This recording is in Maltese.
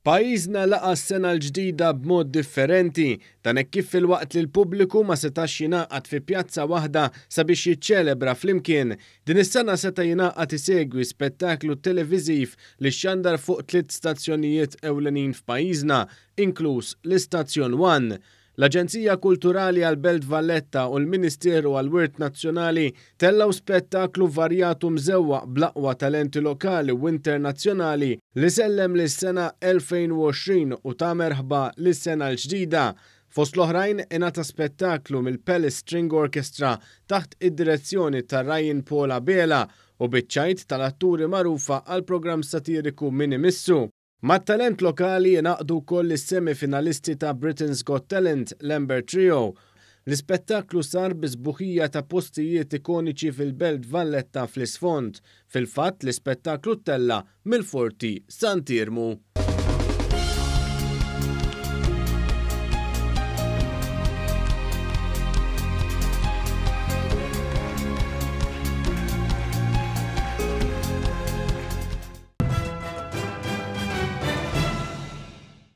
Pajjiżna laqa' s-sena l-ġdida b'mod differenti, dan hekk kif filwaqt li l-pubbliku ma setax jingħaqad fi pjazza waħda sabiex jiċċelebra flimkien, din is-sena seta' jingħaqad isegwi spettaklu televiżiv li xxandar fuq tliet stazzjonijiet ewlenin f'pajjiżna, inkluż l-istazzjon One. L-Aġenzija Kulturali għall-Belt Valletta u l-Ministeru għall-Wirt Nazzjonali tellgħu spettaklu varjat u mżewwaq bl-aqwa talenti lokali u internazzjonali li sellem lis-sena 2020 u ta merħba lis-sena l-ġdida. Fost l-oħrajn ingħata spettaklu mill-Palace String Orchestra taħt id-direzzjoni ta' Ryan Paul Abela u biċ-ċajt tal-atturi magħrufa għall-programm satiriku Min Imissu. Mat-talent lokali ingħaqdu wkoll is-semi finalisti ta' Britain's Got Talent, l-Amber Trio. L-ispettaklu sar bi sbuħija ta' postijiet ikoniċi fil-Belt Valletta fl-isfond. Fil-fatt, l-ispettaklu ttella' mill-Forti Sant'Iermu.